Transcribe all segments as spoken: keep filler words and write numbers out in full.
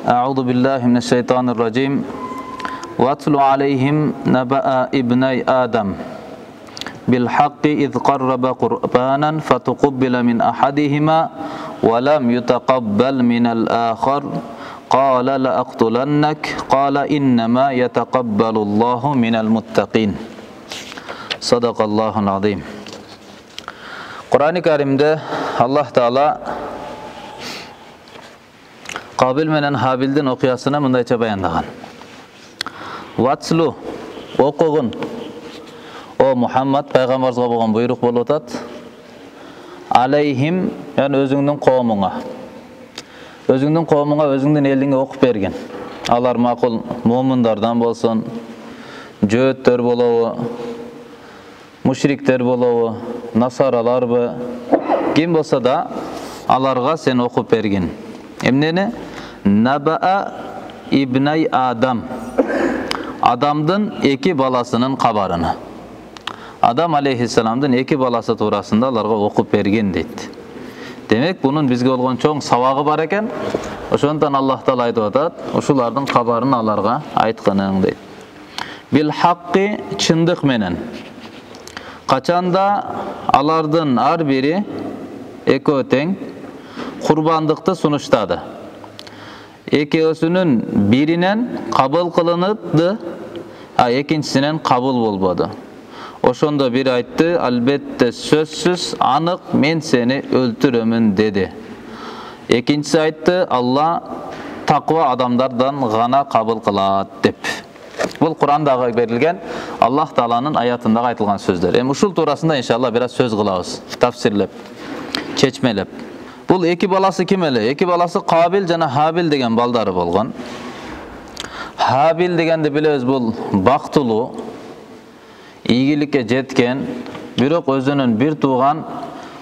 أعوذ بالله من الشيطان الرجيم واتل عليهم نبأ ابني آدم بالحق إذ قرب قربانا فتقبل من أحدهما ولم يتقبل من الآخر قال لأقتلنك قال إنما يتقبل الله من المتقين صدق الله العظيم. Kur'an-ı Kerim'de Allah Teala Kabil menen Habil'din okuyasına mındayça bayanlagan. Vatslu okugun. O Muhammed peygamberimizge bolgan buyruk bolup atat. Aleyhim yani özüңdүн коомуңа. Özüңdүн коомуңа, özüңdүн элиңе окуп берген. Алар макул мууминдардан болсун, жөөттөр болобу, мушриктер болобу, насараларбы, ким болса да аларга сен окуп берген. Эмнени? Набаа ибнай Адам. Адамдын эки баласынын кабарыны. Адам алейхиссаламдын эки баласы туурасында аларга окуп берген дейт. Демек, бунун бизге болгон чоң сабагы бар экен. Ошондон Аллах Таала айтып атат, ушулардын кабарын аларга айтканың дейт. Бил хакки чындык менен. Качанда алардын ар бири экөө тең курбандыкты сунуштады. Экөөсүнүн биринен кабыл кылынды, а экинчисинен кабыл болбоду. Ошондо бир айтты, албетте сөзсүз анык мен сени өлтүрөмүн деди. Экинчиси айтты, Алла таква адамдардан гана кабыл кылат деп. Бул Кур'андагы берилген Аллах Тааланын аятындагы айтылган сөздөр. Эми ушул туурасында иншалла бир аз сөз кылабыз, тафсирлеп, чечмелеп. Бул эки баласы ким эле? Эки баласы Кабил жана Хабил деген балдары болгон. Хабил дегенди билебиз, бул бактылуу, ийгиликке жеткен, бирок өзүнүн бир тууган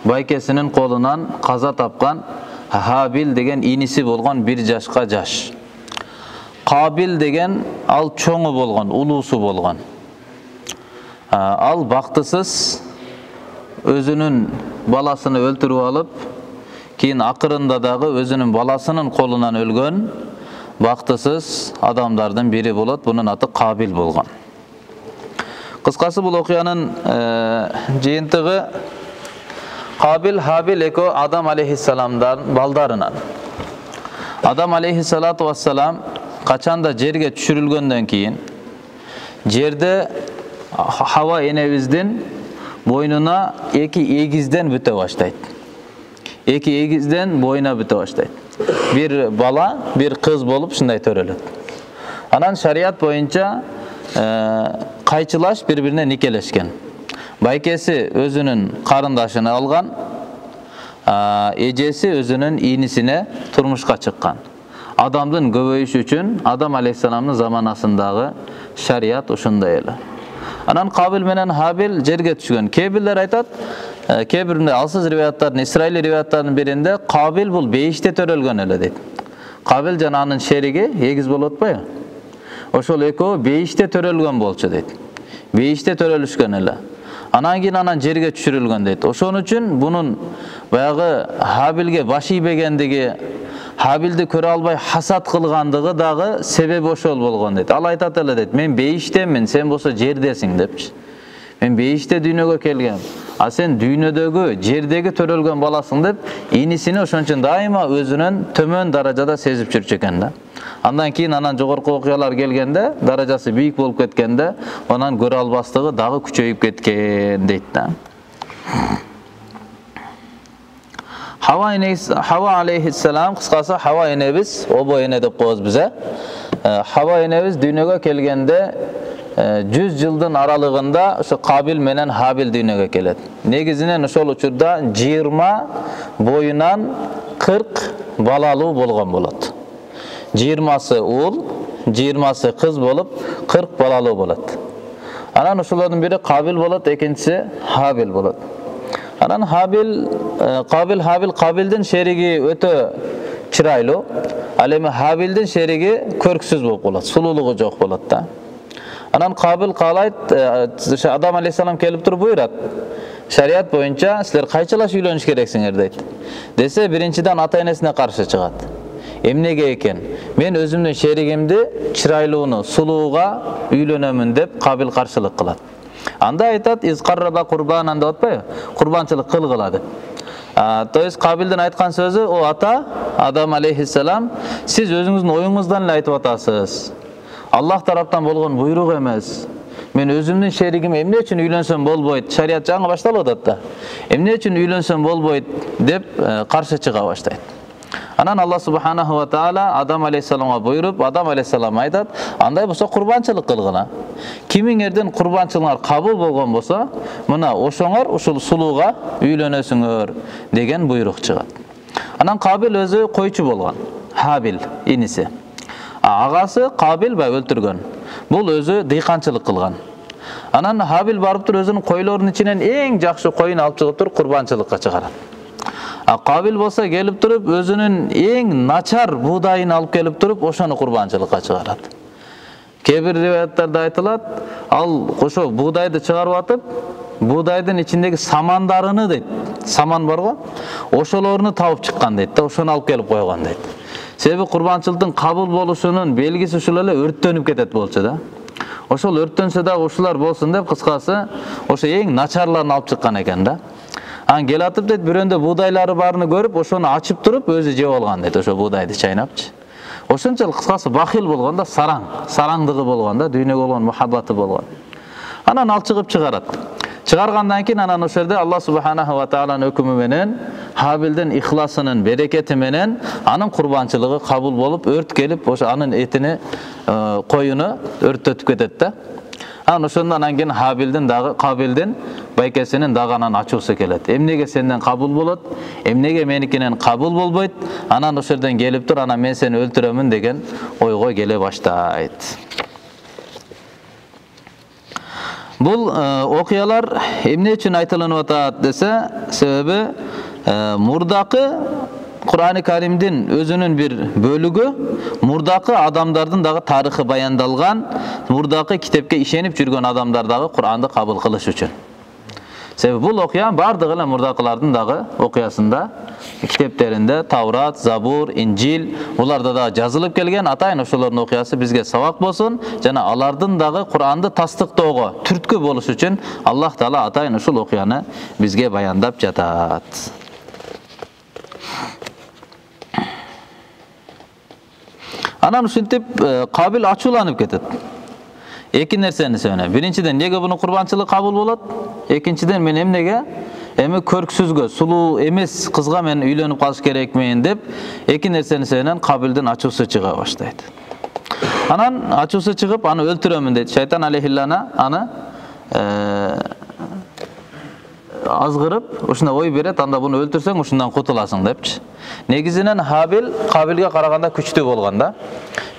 байкесинин колунан каза тапкан Хабил деген иниси болгон бир жашка жаш. Кабил деген ал чоңу болгон, улуусу болгон. Ал бактысыз өзүнүн баласыны өлтүрүп алып, кийин акырында дагы өзүнүн баласынын колунан өлгөн бактысыз адамдардын бири болот. Бунун аты Кабил болгон. Кыскасы бул окуянын жыйынтыгы Кабил, Хабил экөө Адам алейхиссаламдан балдарынан. Адам алейхиссалату вассалам качанда жерге түшүрүлгөндөн кийин жерде Хава энебиздин бойнуна эки эгизден бүтө баштайт. Эки эгизден бойуна бүтө баштайт. Бир бала, бир кыз болуп ушундай төрөлөт. Анан шарият боюнча кайчылаш бири-бирине никелешкен. Байкеси өзүнүн карындашын алган, эжеси өзүнүн инисине турмушка чыккан. Адамдын көбөйүшү үчүн Адам алейхиссаламдын заманасындагы шарият ушундай эле. Анан Кабил менен Хабил жерге түшкөн. Кээ бирлер айтат, кээ биринде алсыз риваяттардын, Исраил риваяттарынын биринде Кабил бул бейиште төрөлгөн эле дейт. Кабил жана анын шериги эгиз болуп атпайбы? Ошол экөө бейиште төрөлгөн болчу дейт. Бейиште төрөлүшкөн эле. Анан кийин анан жерге түшүрүлгөн дейт. Ошон үчүн бунун баягы Хабилге баш ийбегендиги, Хабилди көрө албай хасат кылгандыгы дагы себеби ошол болгон дейт. Ал айтат эле дейт, мен бейиштемин, сен болсо жердесиң депчи. Мен бейиште дүйнөгө келгем, а сен дүйнөдөгү, жердеги төрөлгөн баласың деп, инисини ошон үчүн дайыма өзүнөн төмөн даражада сезип жүрчү экен да. Андан кийин анан жогорку окуялар келгенде, даражасы бийик болуп кеткенде, анан көрө албастыгы дагы күчөйүп кеткен дейт да. Хава энебиз, Хава алейхиссалам, кыскасы Хава энебиз, обо эне деп коебуз биз. Хава энебиз дүйнөгө келгенде жүз жылдын аралыгында ошо Кабил менен Хабил дүйнөгө келет. Негизинен ошол учурда жыйырма боюнан кырк балалуу болгон болот. жыйырмасы уул, жыйырмасы кыз болуп, кырк балалуу болот. Анан ошолордун бири Кабил болот, экинчиси Хабил болот. Анан Хабил, Кабил, Хабил, Кабилдин шериги өтө чырайлуу, ал эми Хабилдин шериги көрксүз болуп калат, сулуулугу жок болот да. Анан Кабил каалайт, Адам алейхиссалам келип туруп буйрат. Шарият боюнча силер кайчалаш үйлөнүш керексиңер дейт. Десе, биринчиден ата энесине каршы чыгат. Эмнеге экен? Мен өзүмдүн шеригимди чырайлууну, сулууга үйлөнөмүн деп Кабил каршылык кылат. Анда айтат, изкарраба курбанан деп атпайбы? Курбанчылык кылгыла деп. То есть Кабилдин айткан сөзү, о ата Адам алейхиссалам, сиз өзүңүздүн оюңуздан эле айтып атасыз. Аллах тараптан болгон буйрук эмес. Мен өзүмдүн шеригим эмне үчүн үйлөнсөм болбойт? Шарият жаңы башталып атат да. Эмне үчүн үйлөнсөм болбойт деп каршы чыга баштайт. Анан Аллах субханаху ва таала Адам алейхиссаламга буйруп, Адам алейхиссалам айтат, андай болсо курбанчылык кылгыла. Кимиңердин курбанчылыгыңар кабыл болгон болсо, мына ошоңор ушул сулууга үйлөнөсүңөр деген буйрук чыгат. Анан Кабил өзү койчу болгон, Хабил иниси. Агасы Кабил ба өлтүргөн. Бул өзү дыйканчылык кылган. Анан Хабил барып туруп өзүнүн койлорунун ичинен эң жакшы койун алып чыгып туруп курбанчылыкка чыгарат. А Кабил болсо келип туруп өзүнүн эң начар буудайын алып келип туруп ошону курбанчылыкка чыгарат. Кээ бир риваяттарда айтылат, ал ошо буудайды чыгарып атып, буудайдын ичиндеги самандарыны дейт. Саман барго, ошолорун табып чыккан дейт да, ошону алып келип койгон дейт. Себеби курбанчылыктын кабыл болушунун белгиси ушул эле өрттөнүп кетет болчу да. Ошол өрттөнсө дагы ушулар болсун деп, кыскасы, ошо эң начарларын алып чыккан экен да. Ан кел атып дейт, бирөөндө буудайлары барыны көрүп, ошону ачып туруп, өзү жеп алган дейт, ошо буудайды чайнапчы. Ошончолук кыскасы бахил болгон да, сараң, сараңдыгы болгон да, дүйнөгө болгон мухаббаты болгон. Анан ал чыгып чыгарат. Чыгаргандан кийин анан ошол жерде Аллах субханаху ва тааланын өкүмү менен, Хабилдин ихласынын берекети менен анын курбанчылыгы кабыл болуп, өрт келип, ошо анын этини, коюну өрттөтүп кетет да. Анан ошондон анан кийин Хабилдин дагы Кабилдин байкесинин дагы анан ачуусу келет. Эмнеге сенден кабыл болот? Эмнеге меникинен кабыл болбойт? Анан ошол жерден келип тур, анан мен сени өлтүрөмүн деген ойго келе баштайт. Бул окуялар эмне үчүн айтылынып атат десе, себеби мурдакы Кур'ан-ы Каримдин өзүнүн бир бөлүгү мурдакы адамдардын дагы тарыхы баяндалган, мурдакы китепке ишенип жүргөн адамдар дагы Кур'анды кабыл кылыш үчүн. Себеби бул окуя бардыгы эле мурдакылардын дагы окуясында, китептеринде Таврат, Забур, Инжил, буларда да жазылып келген, атайын ошолордун окуясы бизге сабак болсун, жана алардын дагы Кур'анды тастыктоого түрткү болуш үчүн Аллах Таала атайын ушул окуяны бизге баяндап жатат. Анан ушинтип Кабил ачууланып кетет. Эки нерсени сөйлөйм. Биринчиден, неге буну курбанчылык кабыл болот? Экинчиден, мен эмнеге эми көрксүзгө, сулуу эмес кызга мен үйлөнүп калыш керекмин деп эки нерсени сөйлөгөн Кабилдин ачуусу чыга баштайт. Анан ачуусу чыгып, аны өлтүрөмүн дейт. Шайтан алейхиллана аны азгырып, ушундай ой берет, анда буну өлтүрсөң ушундан кутуласың депчи. Негизинен Хабил Кабилге караганда күчтүү болгон да.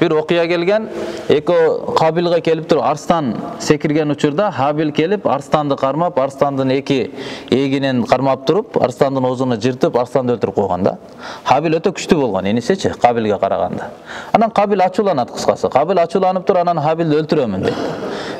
Бир окуя келген, эко Кабилге келип туруп арстан секирген учурда Хабил келип арстанды кармап, арстандын эки эгинен кармап туруп, арстандын оозуну жыртып, арстанды өлтүрүп койгон да. Хабил өтө күчтүү болгон, энисечи Кабилге караганда. Анан Кабил ачууланат кыскасы. Кабил ачууланып туруп, анан Хабилди өлтүрөмүн дейт.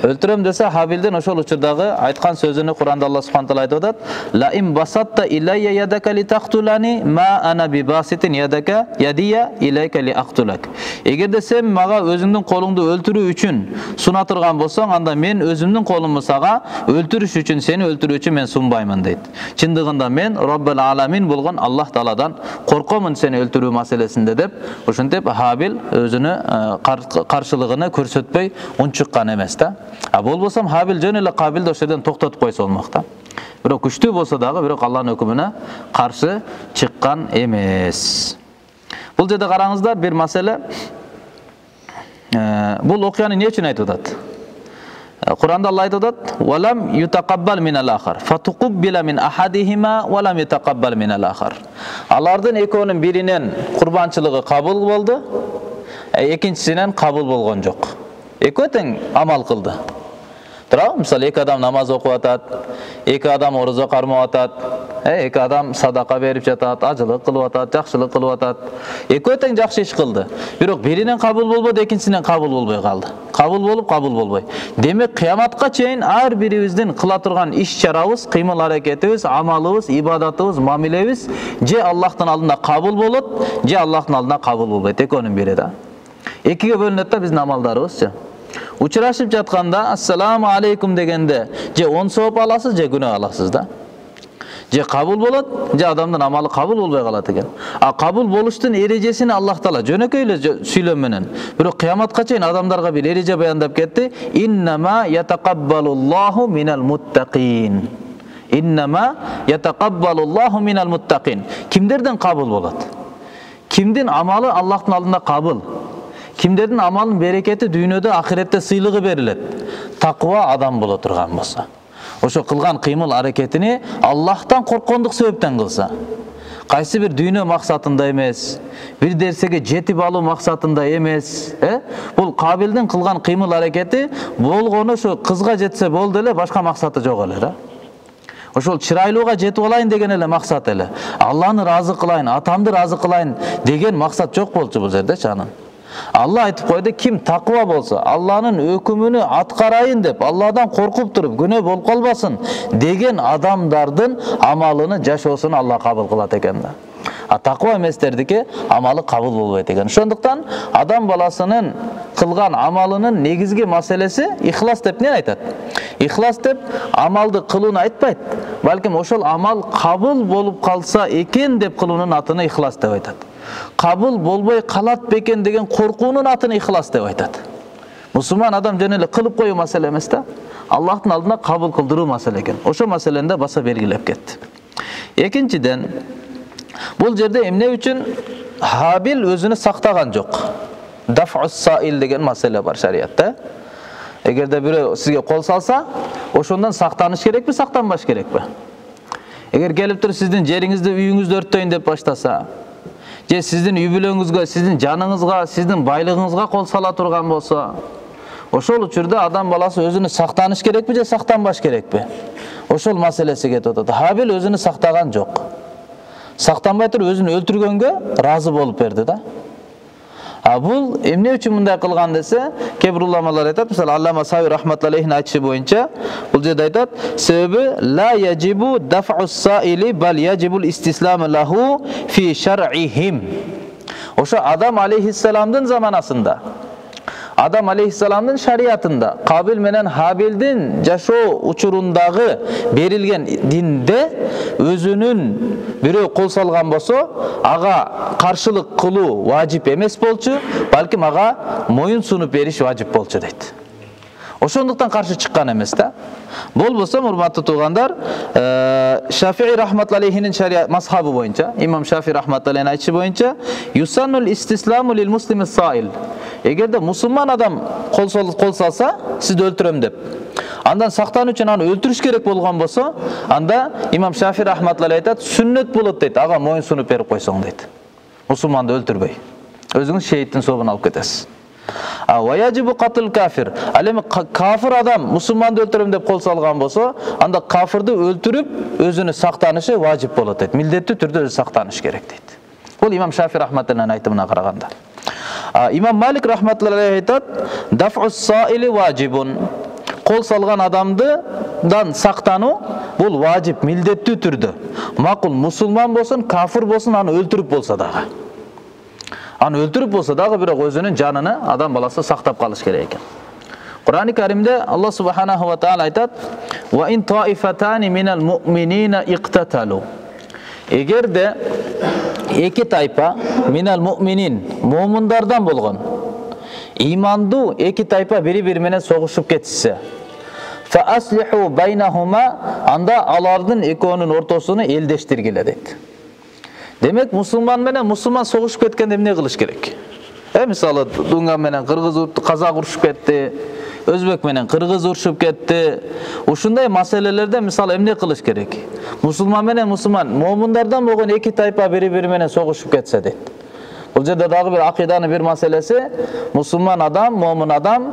Өлтүрөм десе, Хабилдин ошол учурдагы айткан сөзүнү Куранда Аллах субханаху ва таала айтып атат: "Ла им басатта иляйя ядака ли тактулани ма ана би баситин ядака ядия илайка ли актулак." Эгерде сен мага өзүңдүн колуңду өлтүрүү үчүн суна турган болсоң, анда мен өзүмдүн колумду сага өлтүрүш үчүн, сени өлтүрүү үчүн мен сунбаймын дейт. Чындыгында мен Роббул аламин болгон Аллах Тааладан коркомун сени өлтүрүү маселесинде деп, ошентип Хабил өзүнүн каршылыгын көрсөтпөй унчуккан эмес да. А болбосом Хабил жөн эле Кабилди ошол жерден токтотуп койсо болмок да. Бирок күчтүү болсо дагы, бирок Аллахтын өкүмүнө каршы чыккан эмес. Бул жерде караңыздар, бир маселе. Бул окуяны эмне үчүн айтып атат? Куранда Алла айтып атат: "Валам ютакаббал минал ахар, фатуқуббила мин ахадихима валам ютакаббал минал ахар." Алардын экөөнүн биринен курбанчылыгы кабыл болду, экинчисинен кабыл болгон жок. Экөө тең амал кылды. Туурабы? Мисалы эки адам намаз окуп атат, эки адам орозо кармап атат, эки адам садака берип жатат, ажылык кылып атат, жакшылык кылып атат. Экөө тең жакшы иш кылды. Бирок биринен кабыл болбоду, экинчисинен кабыл болбой калды. Кабыл болуп, кабыл болбой. Демек кыяматка чейин ар бирибиздин кыла турган иш-чарабыз, кыймыл-аракетибиз, амалыбыз, ибадатыбыз, мамилебиз же Аллахтын алдында кабыл болот, же Аллахтын алдында кабыл болбойт. Экөөнүн бири да. Экиге бөлүнөт да биздин амалдарыбызчы. Учурашып жатканда ассаламу алейкум дегенде же он сооп аласыз, же күнөө аласыз да. Же кабыл болот, же адамдын амалы кабыл болбой калат экен. А кабыл болуштун эрежесин Аллах Таала жөнөкөй эле сүйлөм менен, бирок кыяматка чейин адамдарга бир эреже баяндап кетти. Иннама ятакаббалуллаху минал муттакин. Иннама ятакаббалуллаху минал муттакин. Кимдерден кабыл болот? Кимдин амалы Аллахтын алдында кабыл? Кимдердин амалынын берекети дүйнөдө, ахиретте сыйлыгы берилет? Таква адам боло турган болсо. Ошо кылган кыймыл аракетини Аллахтан корккондук себептен кылса. Кайсы бир дүйнө максатында эмес, бир нерсеге жетип алуу максатында эмес, э? Бул Кабилдин кылган кыймыл аракети болгону ошо кызга жетсе болду эле, башка максаты жок эле да. Ошол чырайлууга жетип алайын деген эле максат эле. Алланы ыраазы кылайын, атамды ыраазы кылайын деген максат жок болчу бул жерде чанын. Алла айтып койду, ким таква болсо, Алланын өкүмүнү аткарайын деп, Алладан коркуп туруп, күнөө болуп калбасын деген адамдардын амалыны, жашоосуну Алла кабыл кылат экен да. А таква эместердики амалы кабыл болбойт экен. Ошондуктан адам баласынын кылган амалынын негизги маселеси ихлас деп не айтат? Ихлас деп амалды кылууну айтпайт, балким ошол амал кабыл болуп калса экен деп кылуунун атыны ихлас деп айтат. Кабыл болбой калат бекен деген коркуунун атын ихлас деп айтат. Мусулман адам жөн эле кылып коюу маселе эмес да, Аллахтын алдында кабыл кылдыруу маселе экен. Ошо маселени да баса белгилеп кетти. Экинчиден, бул жерде эмне үчүн Хабил өзүнү сактаган жок? Даф'ус саил деген маселе бар шариятта. Эгерде бирөө сизге кол салса, ошондон сактаныш керекпи, сактанбаш керекпи? Эгер келип туруп сиздин жериңизди, үйүңүздү өрттөйүн деп баштаса, же сиздин үй бүлөңүзгө, сиздин жаныңызга, сиздин байлыгыңызга кол сала турган болсо, ошол учурда адам баласы өзүнү сактаныш керекпи же сактанбаш керекпи? Ошол маселеси кетип атат. Хабил өзүнү сактаган жок. Сактанбай туруп өзүн өлтүргөнгө ыраазы болуп берди да. А бул эмне үчүн мындай кылган десе, кээ бир уламалар айтат, мисалы Аллама Сави рахматуллахи айтышы боюнча, бул жерде айтат, себеби ла яжибу даф'ус саили бал яжибул истисламу лаху фи шар'ихим. Ошо Адам алейхиссаламдын заманасында, Адам алейхиссаламдын шариятында, Кабил менен Хабилдин жашоо учурундагы берилген динде өзүнүн бирөө кол салган болсо, ага каршылык кылуу важип эмес болчу, балким ага моюн сунуп бериш важип болчу дейт. Ошондуктан каршы чыккан эмес да. Болбосо, урматтуу туугандар, Шафии рахматуллахинин шарият мазхабы боюнча, имам Шафии рахматуллахинин айтышы боюнча, юсаннул истисламу лил муслими саил. Эгерде мусулман адам кол кол салса, сизди өлтүрөм деп, андан сактануу үчүн аны өлтүрүш керек болгон болсо, анда имам Шафии рахматуллахи айтат, сүннөт болот дейт, ага моюн сунуп берип койсоң дейт. Мусулманды өлтүрбөй, өзүңүз шейиттин сообун алып кетесиз. А ваяжибу катл кафир. Ал эми кафир адам мусулманды өлтүрөм деп кол салган болсо, анда кафирди өлтүрүп өзүнү сактанышы важип болот дейт. Милдеттүү түрдө өзү сактаныш керек дейт. Бул имам Шафии рахматуллахинин айтымына караганда. Имам Малик рахматуллахи айтат, даф'ус саили важибун. Кол салган адамдыдан сактануу бул важип, милдеттүү түрдө. Макул мусулман болсун, кафир болсун, аны өлтүрүп болсо дагы. Аны өлтүрүп болсо дагы бирок өзүнүн жаныны адам баласы сактап калыш керек экен. Кур'ан-ы Каримде Аллах субханаху ва таала айтат: "Ва ин таифатани минал муъминина иqtatalu." Эгерде эки тайпа минал муъминин, муъминдардан болгон, имандуу эки тайпа бири-бири менен согушуп кетишсе, fa aslihu baynahuma, анда алардын экөөнүн ортосуну элдештиргиле дейт. Демек, мусулман менен мусулман согушуп кеткенде эмне кылыш керек? Э, мисалы, дунган менен кыргыз урушуп, казак урушуп кетти, өзбек менен кыргыз урушуп кетти. Ушундай маселелерде мисалы эмне кылыш керек? Мусулман менен мусулман, момундардан болгон эки тайпа бири-бири менен согушуп кетсе дейт. Бул жерде дагы бир акыйданын бир маселеси, мусулман адам, момун адам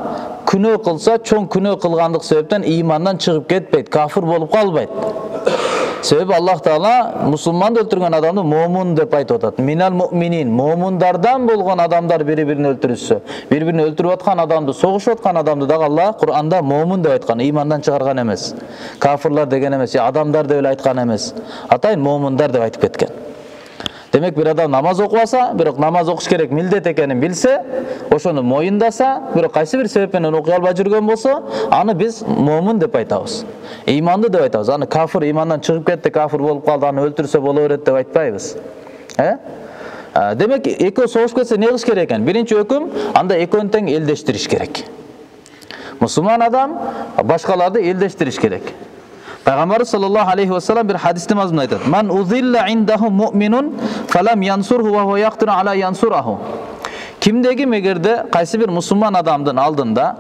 күнөө кылса, чоң күнөө кылгандык себептен имандан чыгып кетпейт, кафир болуп калбайт. Себеби Аллах Таала мусулманды өлтүргөн адамды момун деп айтып атат. Минал муъминин, момундардан болгон адамдар бири-бирин өлтүрүшсө, бири-бирин өлтүрүп аткан адамды, согушуп аткан адамды дагы Аллах Кур'анда момун деп айткан, имандан чыгарган эмес. Кафирлар деген эмес, адамдар деп эле айткан эмес. Атайын момундар деп айтып кеткен. Демек бир адам намаз окубаса, бирок намаз окуш керек милдет экенин билсе, ошону моюндаса, бирок кайсы бир себеп менен окуй албай жүргөн болсо, аны биз момун деп айтабыз. Иманды деп айтабыз. Аны кафир, имандан чыгып кетти, кафир болуп калды, аны өлтүрсө боло берет деп айтпайбыз. Э? Демек экөө согушуп кетсе не кылыш керек экен? Биринчи өкүм, анда экөөнү тең элдештириш керек. Мусулман адам башкаларды элдештириш керек. Пайгамбар саллаллаху алейхи ва саллям бир хадисте мазмун айтат. Ман узилла индаху муъминун фалам янсурху ва хува яқтиру ала янсураху. Кимдеги мегерде кайсы бир мусулман адамдын алдында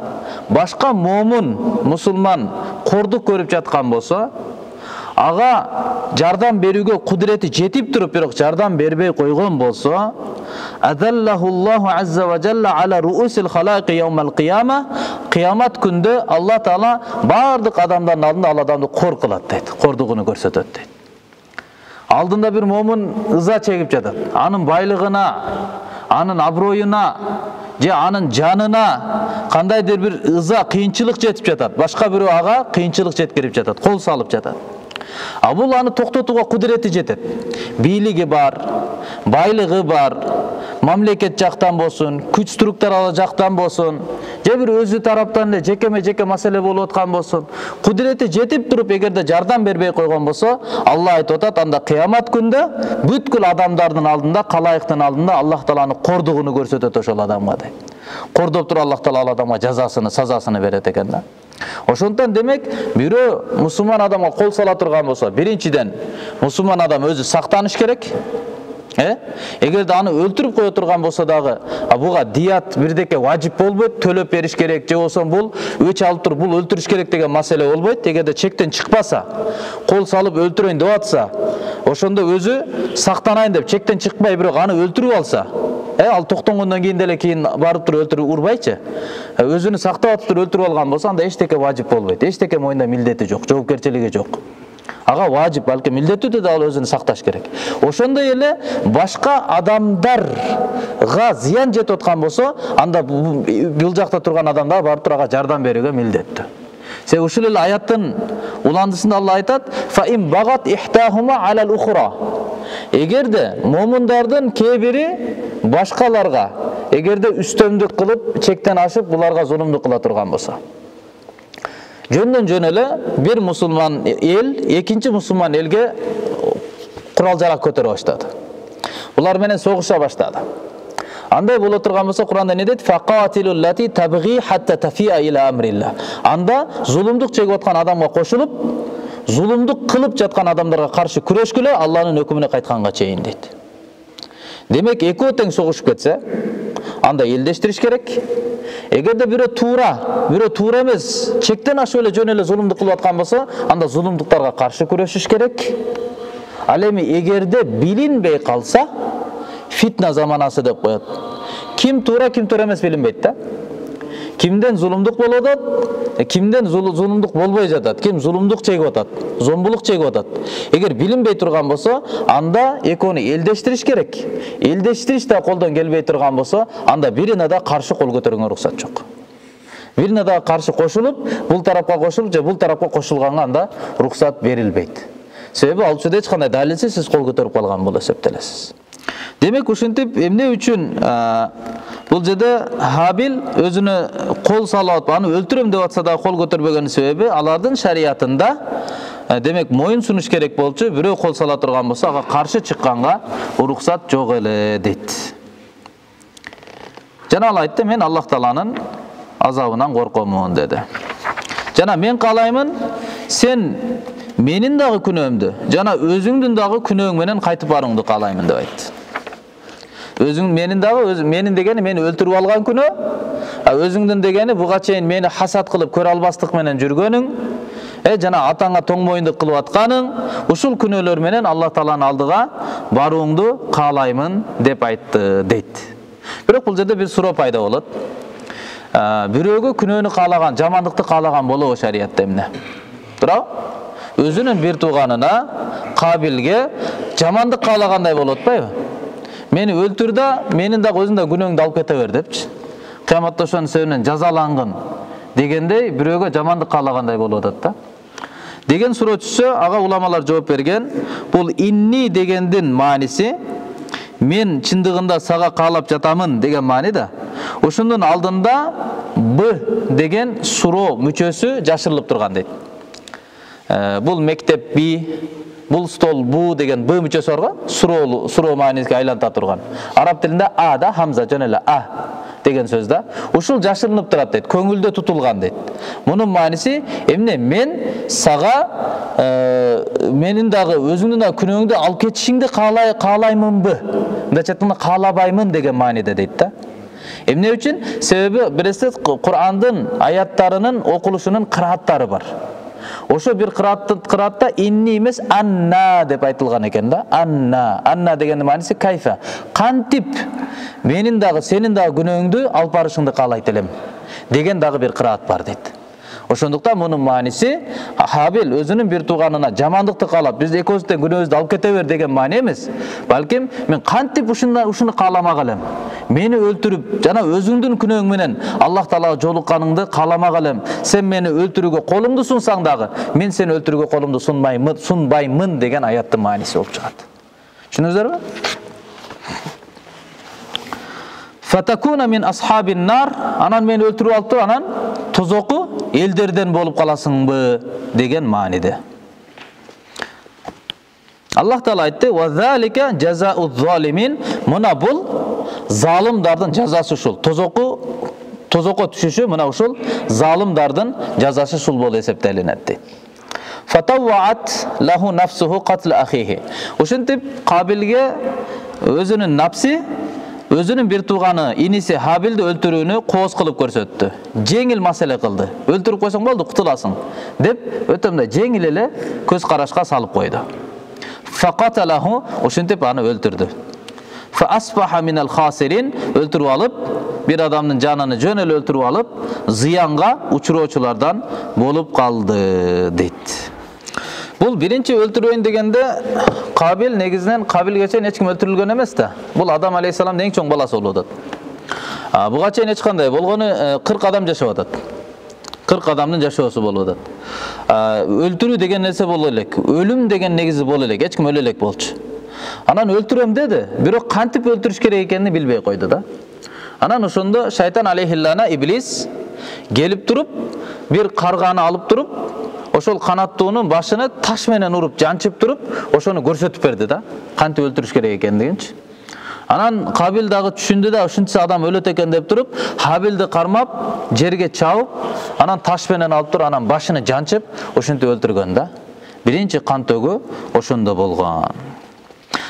башка момун мусулман кордук көрүп жаткан болсо, ага жардам берүүгө кудурети жетип туруп, бирок жардам бербей койгон болсо, адаллахуллаху азза ва жалла ала руусил халайqi яумал қияма, кыямат күндө Алла Таала бардык адамдардын алдында ал адамды кор кылат дейт, кордугуну көрсөтөт дейт. Алдында бир момун ыза чегип жатат, анын байлыгына, анын аброюна, же анын жанына кандайдыр бир ыза, кыйынчылык жетип жатат. Башка бирөө ага кыйынчылык жеткирип жатат, кол салып жатат. А бул аны токтотууга кудурети жетет. Бийлиги бар, байлыгы бар, мамлекет жактан болсун, күч структуралар жактан болсун, же бир өзү тараптан эле жекеме-жеке маселе болуп аткан болсун, кудурети жетип туруп эгерде жардам бербей койгон болсо, Алла айтып атат, анда кыямат күндө бүткүл адамдардын алдында, калайыктын алдында Аллах Тааланын кордугуну көрсөтөт ошол адамга дейт. Кордоп туруп Аллах Таала ал адамга жазасын, сазасын берет экен да. Ошондон демек, бирөө мусулман адамга кол сала турган болсо, биринчиден мусулман адам өзү сактаныш керек. Э? Эгерде аны өлтүрүп кое турган болсо дагы, буга дият бирдеке важип болбойт, төлөп бериш керек, же болсо бул өч алып туруп бул өлтүрүш керек деген маселе болбойт. Эгерде чектен чыкпаса, кол салып өлтүрөйүн деп атса, ошондо өзү сактанайын деп чектен чыкпай бирок аны өлтүрүп алса, э, ал токтонгондон кийин деле кийин барып туруп өлтүрүп урбайчы. Өзүнү сактап атып туруп өлтүрүп алган болсо, анда эчтеке важип болбойт. Эчтеке моюнда милдети жок, жоопкерчилиги жок. Ага важип, балки милдеттүү да ал өзүн сакташ керек. Ошондой эле башка адамдарга зыян жетип аткан болсо, анда бул жакта турган адамдар барып туруп ага жардам берүүгө милдеттүү. Се ушул эле аяттын уландысында Алла айтат: "Фа ин багат ихтахума алал ухра." Эгерде момундардын кээ бири башкаларга эгерде үстөмдүк кылып, чектен ашып, буларга зулумдук кыла турган болсо, жөндөн жөн эле бир мусулман эл экинчи мусулман элге курал жарак көтөрө баштады. Булар менен согуша баштады. Андай боло турган болсо, Куранда не дейт? Фaqatilul lati tabghi hatta tafi'a ila amrillah. Анда зулумдук чегип аткан адамга кошулуп, зулумдук кылып жаткан адамдарга каршы күрөшкүлө, Алланын өкүмүнө кайтканга чейин дейт. Демек экөө тең согушуп кетсе, анда элдештириш керек. Эгерде бирөө туура, бирөө туура эмес, чектен ашып эле жөн эле зулумдук кылып аткан болсо, анда зулумдуктарга каршы күрөшүш керек. Ал эми эгерде билинбей калса, фитна заманасы деп коет. Ким туура, ким туура эмес билинбейт да. Кимден зулумдук болуп атат, кимден зулумдук болбой жатат, ким зулумдук чегип атат, зомбулук чегип атат. Эгер билинбей турган болсо, анда экөөнү элдештириш керек. Элдештириш да колдон келбей турган болсо, анда бирине да каршы кол көтөргөнгө уруксат жок. Бирине да каршы кошулуп, бул тарапка кошулуп же бул тарапка кошулганга анда уруксат берилбейт. Себеби ал учурда эч кандай далилсиз сиз кол көтөрүп калган болуп эсептелесиз. Демек ушинтип эмне үчүн бул жерде Хабил өзүнө кол салып, аны өлтүрөм деп атса да кол көтөрбөгөн себеби алардын шариятында демек моюн сунуш керек болчу, бирөө кол сала турган болсо ага каршы чыкканга уруксат жок эле дейт. Жана ал айтты: "Мен Аллах Тааланын азабынан коркомун" деди. Жана мен каалаймын, сен менин дагы күнөөмдү, жана өзүңдүн дагы күнөөң менен кайтып барууңду каалаймын деп айтты. Өзүң менин дагы, өз менин дегени мени өлтүрүп алган күнөө, а өзүңдүн дегени буга чейин мени хасат кылып көрө албастык менен жүргөнүң, Э жана атаңа тоң моюндук кылып атканың, ушул күнөөлөр менен Алла Тааланын алдыга барууңду каалаймын деп айтты дейт. Бирок бул жерде бир суроо пайда болот. Бирөөгө күнөөнү каалаган, жамандыкты каалаган болобу шариятта эмне? Туурабы? Өзүнүн бир тууганына, Кабилге жамандык каалагандай болуп атпайбы? Мени өлтүр да, менин дагы өзүң да күнөөңдү алып кете бер депчи. Кыяматта ошонун себебинен жазалангын дегендей бирөөгө жамандык каалагандай болуп атат да. Деген суроо түшсө, ага уламалар жооп берген. Бул инни дегендин мааниси мен чындыгында сага каалап жатамын деген маани да. Ошондун алдында б деген суроо мүчөсү жашырылып турган дейт. Бул мектеп би, бул стол бу деген б мүчөсү бар го, суроо суроо маанисине айланта турган. Араб тилинде а да хамза жөн эле а деген сөз да. Ушул жашырынып турат дейт, көңүлдө тутулган дейт. Мунун мааниси эмне? Мен сага менин дагы өзүңдүн да күнөөңдү алып кетишиңди каалай каалаймынбы? Мындайча айтканда каалабаймын деген мааниде дейт да. Эмне үчүн? Себеби билесиз, Кур'андын аяттарынын окулушунун кырааттары бар. Ошо бир кыраатта инни эмес анна деп айтылган экен да. Анна. Анна дегендин мааниси кайфа. Кантип менин дагы сенин дагы күнөөңдү алып барышыңды каалайт элем деген дагы бир кыраат бар дейт. Ошондуктан мунун мааниси Хабил өзүнүн бир тууганына жамандыкты каалап, биз экөөбүздөн күнөөбүздү алып кете бер деген маани эмес. Балким мен кантип ушуну ушуну кааламак элем. Мени өлтүрүп, жана өзүңдүн күнөөң менен Аллах Таалага жолукканыңды кааламак элем. Сен мени өлтүрүүгө колуңду сунсаң дагы, мен сени өлтүрүүгө колумду сунбаймын, сунбаймын деген аяттын мааниси болуп чыгат. Түшүндүңүздөрбү? Фатакуна мин асхабин нар, анан мени өлтүрүп алып туруп, анан тозоку элдерден болуп каласыңбы деген мааниде. Аллах Таала айтты: "Ва залика жазау залимин", мына бул залымдардын жазасы ушул. Тозоку тозокко түшүшү мына ушул залымдардын жазасы ушул болуп эсептелинет дейт. Фатаваат лаху нафсуху катл ахихи. Ошентип Кабилге өзүнүн напси, өзүнүн бир тууганы иниси Хабилди өлтүрүүнү кооз кылып көрсөттү. Жеңил маселе кылды. Өлтүрүп койсоң болду, кутуласың деп өтө мындай жеңил эле көз карашка салып койду. Факаталаху, ошентип аны өлтүрдү. Фа асбаха минал хасирин, өлтүрүп алып, бир адамдын жанын жөн эле өлтүрүп алып, зыянга учуроочулардан болуп калды дейт. Бул биринчи өлтүрөйүн дегенде Кабил негизинен Кабилге чейин эч ким өлтүрүлгөн эмес да. Бул Адам алейхиссаламдын эң чоң баласы болуп атат. Буга чейин эч кандай болгону кырк адам жашап атат. кырк адамдын жашоосу болуп атат. Өлтүрүү деген нерсе боло элек, өлүм деген негизи боло элек, эч ким өлө элек болчу. Анан өлтүрөм деди, бирок кантип өлтүрүш керек экенин билбей койду да. Анан ошондо шайтан алейхиллана иблис келип туруп, бир карганы алып туруп, ошол канаттуунун башыны таш менен уруп, жанчып туруп, ошону көрсөтүп берди да, кантип өлтүрүш керек экендигинчи. Анан Кабил дагы түшүндү да, ушунча адам өлөт экен деп туруп, Хабилди кармап, жерге чабып, анан таш менен алып туруп, анан башыны жанчып, ошентип өлтүргөн да. Биринчи кан төгүү ошондо болгон.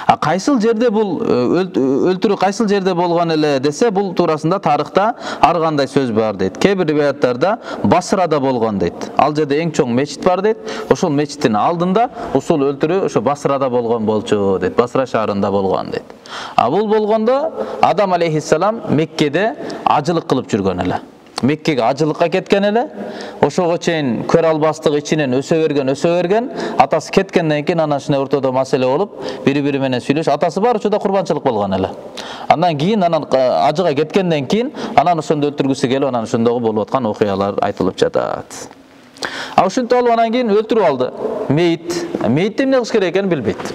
А кайсыл жерде бул өлтүрүү кайсыл жерде болгон эле десе, бул туурасында тарыхта ар кандай сөз бар дейт. Кээ бир риwаяттарда Басрада болгон дейт. Ал жерде эң чоң мечит бар дейт. Ошол мечиттин алдында ушул өлтүрүү ошо Басрада болгон болчу дейт. Басра шаарында болгон дейт. А бул болгондо Адам алейхиссалам Меккеде ажылык кылып жүргөн эле. Меккеге ажылыкка кеткен эле. Ошого чейин көр албастык ичинен өсө берген, өсө берген. Атасы кеткенден кийин анан ушундай ортодо маселе болуп, бири-бири менен сүйлөш. Атасы бар учурда курбанчылык болгон эле. Андан кийин анан ажыга кеткенден кийин анан ошондо өлтүргүсү келип, анан ошондогу болуп аткан окуялар айтылып жатат. А ушинтип алып анан кийин өлтүрүп алды. Мейит. Мейтти эмне кылыш керек экенин билбейт.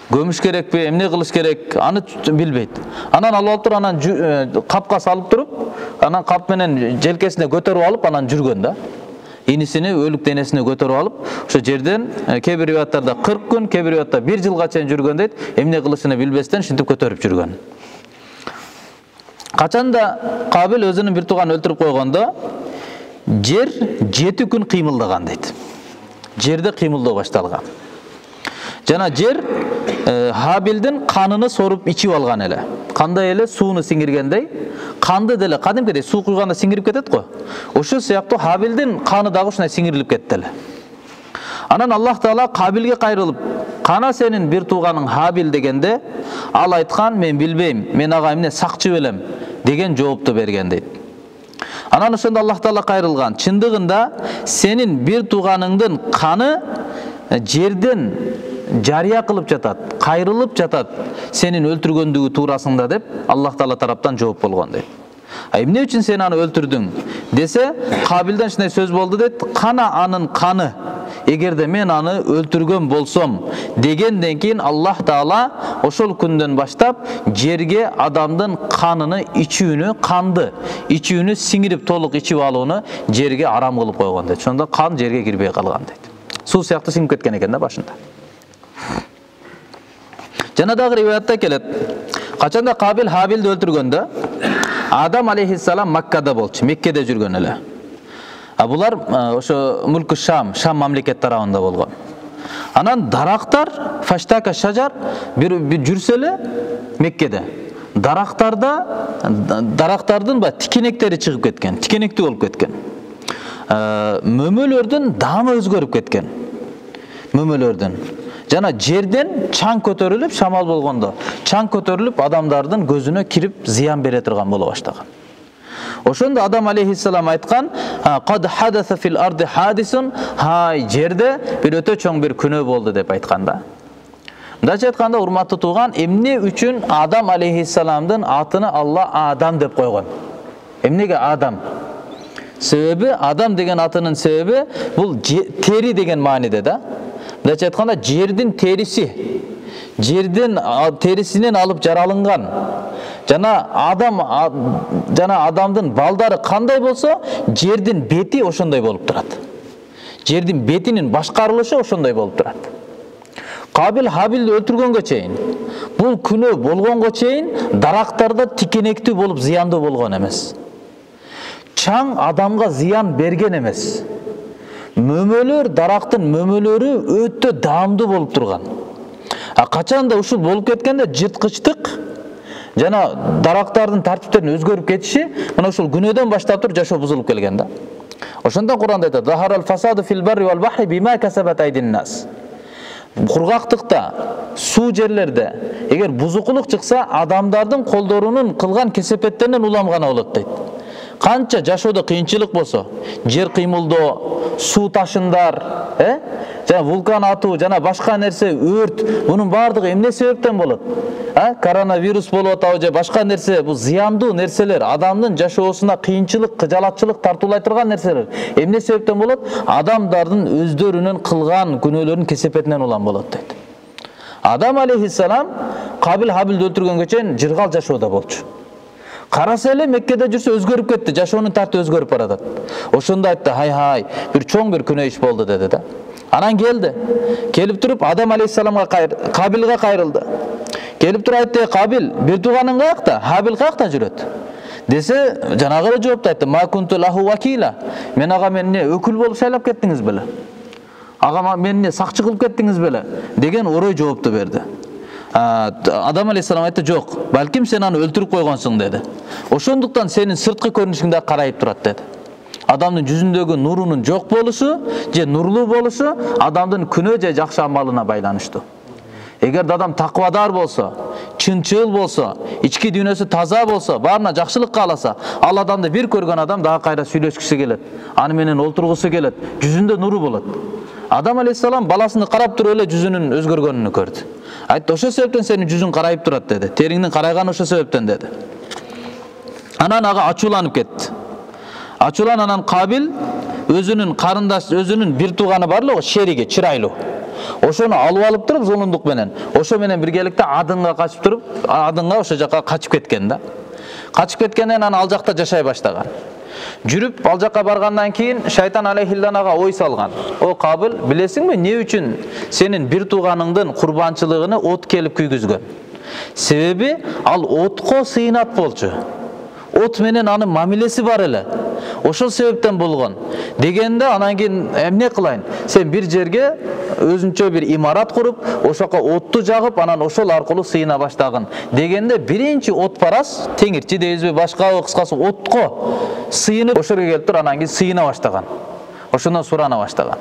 Көмүш керекпи, эмне кылыш керек, аны билбейт. Анан алып алып туруп, анан капка салып туруп, анан кап менен желкесине көтөрүп алып, анан жүргөн да. Инисини өлүк денесине көтөрүп алып, ошо жерден кээ бир риwаяттарда кырк күн, кээ бир риwаятта бир жылга чейин жүргөн дейт. Эмне кылышын билбестен шинтип көтөрүп жүргөн. Качанда Кабил өзүнүн бир тууганын өлтүрүп койгондо, жер жети күн кыймылдаган дейт. Жерде кыймылдоо башталган. Жана жер Хабилдин каныны соруп ичип алган эле. Кандай эле сууну сиңиргендей, канды деле кадимкидей суу куйганда сиңирип кетет го. Ошол сыяктуу Хабилдин каны дагы ушундай сиңирилип кетти эле. Анан Аллах Таала Кабилге кайрылып, кана сенин бир тууганың Хабил дегенде, ал айткан, мен билбейм, мен ага эмне сакчы белем деген жоопту берген дейт. Анан ошондо Аллах Таала кайрылган, чындыгында сенин бир тууганыңдын каны жерден жарыя кылып жатат, кайрылып жатат сенин өлтүргөндүгү туурасында деп Аллах Таала тараптан жооп болгон дейт. А эмне үчүн сен аны өлтүрдүң десе, Кабилден ушундай сөз болду дейт, кана анын каны, эгерде мен аны өлтүргөн болсом дегенден кийин Аллах Таала ошол күндөн баштап жерге адамдын каныны ичүүнү, канды ичүүнү сиңирип толук ичип алууну жерге арам кылып койгон дейт. Ошондо кан жерге кирбей калган дейт. Суу сыяктуу сиңип кеткен экен да башында. Жана дагы риваятта келет. Качанда Кабил Хабилди өлтүргөндө Адам алейхиссалам Маккада болчу, Меккеде жүргөн эле. А булар ошо Мулку Шам, Шам мамлекет тарабында болгон. Анан дарактар, фаштака шажар бир жүрсө эле Меккеде. Дарактарда дарактардын ба тикенектери чыгып кеткен, тикенектүү болуп кеткен. Мөмөлөрдүн даамы өзгөрүп кеткен. Мөмөлөрдүн жана жерден чаң көтөрүлүп, шамал болгондо чаң көтөрүлүп адамдардын көзүнө кирип зыян бере турган боло баштаган. Ошондо Адам алейхиссалам айткан, "Кад хадаса фил арди хадисун", хай жерде бир өтө чоң бир күнөө болду деп айткан да. Мындайча айтканда, урматтуу тууган, эмне үчүн Адам алейхиссаламдын атыны Алла Адам деп койгон? Эмнеге Адам? Себеби Адам деген атынын себеби бул тери деген мааниде да. Мындайча айтканда, жердин териси, жердин терисинен алып жаралынган. Жана адам жана адамдын балдары кандай болсо, жердин бети ошондой болуп турат. Жердин бетинин башкарылышы ошондой болуп турат. Кабил Хабилди өлтүргөнгө чейин, бул күнөө болгонго чейин дарактарда тикенектүү болуп зыяндуу болгон эмес. Чаң адамга зыян берген эмес. Мөмөлөр, дарактын мөмөлөрү өтө даамдуу болуп турган. А качанда ушул болуп кеткенде жырткычтык жана дарактардын тартиптерин өзгөрүп кетиши, мына ушул күнөөдөн баштап туруп жашоо бузулуп келген да. Ошондон Кур'анда айтат: "Захарал фасаду фил барри вал бахри бима касабат айдин нас." Кургактыкта, суу жерлерде эгер бузукулук чыкса, адамдардын колдорунун кылган кесепеттеринен улам гана болот дейт. Канча жашоодо кыйынчылык болсо, жер кыймылдоо, суу ташындар, э? Жана вулкан атуу, жана башка нерсе, өрт, бунун баардыгы эмне себептен болот? А? Коронавирус болуп атабы же башка нерсе, бул зыяндуу нерселер, адамдын жашоосуна кыйынчылык, кыжалатчылык тартуулай турган нерселер. Эмне себептен болот? Адамдардын өздөрүнүн кылган күнөөлөрүнүн кесепетинен улам болот дейт. Адам алейхиссалам Кабил Хабилди өлтүргөнгө чейин жыргал жашоодо болчу. Караса эле Меккеде жүрсө өзгөрүп кетти, жашоонун тарты өзгөрүп баратат. Ошондо айтты: "Хай-хай, бир чоң бир күнөө иш болду" деди да. Анан келди. Келип туруп Адам алейхиссаламга кайр, Кабилге кайрылды. Келип туруп айтты: "Кабил, бир тууганың каякта? Хабил каякта жүрөт?" Десе, жанагы эле жоопту айтты: "Ма кунту лаху вакила." Мен ага менне өкүл болуп шайлап кеттиңиз беле? Ага менне сакчы кылып кеттиңиз беле? Деген орой жоопту берди. Адам алейхиссалам айтты: "Жок, балким сен аны өлтүрүп койгонсуң" деди. "Ошондуктан сенин сырткы көрүнүшүңдө карайып турат" деди. Адамдын жүзүндөгү нурунун жок болушу же нурлуу болушу адамдын күнөө же жакшы амалына байланыштуу. Эгер адам таквадар болсо, чынчыл болсо, ички дүйнөсү таза болсо, баарына жакшылык кааласа, ал адамды бир көргөн адам дагы кайра сүйлөшкүсү келет, аны менен олтургусу келет, жүзүндө нуру болот. Адам алейхиссалам баласыны карап туруп эле жүзүнүн өзгөргөнүн көрдү. Айтты: "Ошо себептен сенин жүзүң карайып турат" деди. "Териңдин карайганы ошо себептен" деди. Анан ага ачууланып кетти. Ачуулан анан Кабил өзүнүн карындаш, өзүнүн бир тууганы бар эле, шериги, чырайлуу. Ошону алып алып туруп зулумдук менен, ошо менен биргеликте Адынга качып туруп, Адынга ошо жака качып кеткен да. Качып кеткенден анан ал жакта жашай баштаган. Жүрүп ал жака баргандан кийин шайтан алейхиллан ага ой салган: "О Кабил, билесиңби эмне үчүн сенин бир тууганыңдын курбанчылыгыны от келип күйгүзгөн? Себеби ал отко сыйынат болчу. От менен анын мамилеси бар эле. Ошол себептен болгон" дегенде, анан кийин эмне кылайын? Сен бир жерге өзүнчө бир имарат куруп, ошоко отту жагып, анан ошол аркылуу сыйына баштагын. Дегенде биринчи отпарас, теңирчи дейбизби, башкабы, кыскасы отко сыйынып, ошол жерге келип туруп, анан кийин сыйына баштаган. Ошондон сурана баштаган.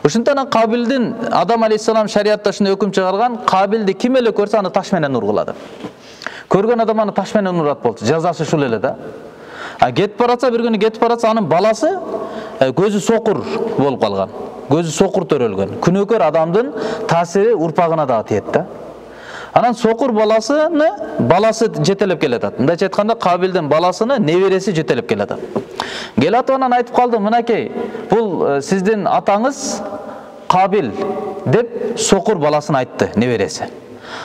Ошондон Кабилдин Адам алейхиссалам шариатта ушундай өкүм чыгарган, Кабилди ким эле көрсө аны таш менен ургулады. Көргөн адам аны таш менен урат болчу. Жазасы ушул эле да. А кетип баратса, бир күнү кетип баратса, анын баласы көзү сокур болуп калган. Көзү сокур төрөлгөн. Күнөөкөр адамдын таасири урпагына да тиет да. Анан сокур баласыны баласы жетелеп келатат. Мындайча айтканда, Кабилдин баласыны небереси жетелеп келатат. Келатып анан айтып калды, мынакей, бул сиздин атаңыз Кабил деп сокур баласын айтты, небереси.